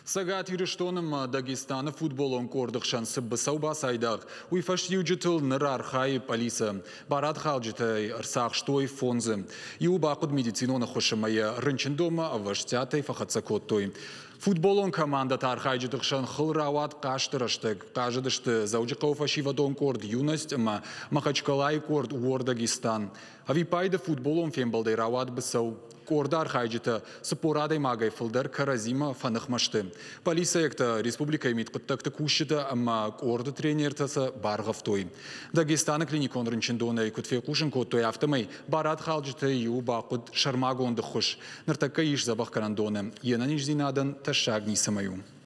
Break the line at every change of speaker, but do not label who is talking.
Цӕгат Ирыстоны ӕмӕ Дагестаны футболон къорды хсӕн цы быцӕу бацайдагъ, уый фӕстиуджытыл ныр архайы пъӕлицӕ. Барадхалджытӕй ӕрцахстой фондзы. Иуы бахъуыд медицинон ӕххуыс ӕмӕ йӕ рынчындонмӕ ӕвӕстиатӕй фӕхӕццӕ кодтой. Футболон командӕты архайджыты хсӕн хыл рауад хъазты рӕстӕг. Хъазыдысты Дзӕуджыхъӕуы фӕсивӕдон къорд «Юность» ӕмӕ Махачкалайы къорд «Уор Дагестан». Ӕвиппайды футболон фембӕлдӕй рауад быцӕу. Къорды архайджытӕ 40 адӕймагӕй фылдӕр кӕрӕдзимӕ фӕныхмӕ сты. Полицейӕгтӕ, республикӕйы мидхъуыддӕгты кусджытӕ ӕмӕ къорды тренертӕ сӕ баргъӕвтой. Дагестаны клиникон рынчындонӕй куыд фехъусын кодтой, афтӕмӕй барадхалджытӕй иуы бахъуыд сӕрмагонд ӕххуыс. Ныртӕккӕ ис дзӕбӕхгӕнӕндоны. Йе нӕниздзинадӕн тӕссаг ницӕмӕй у.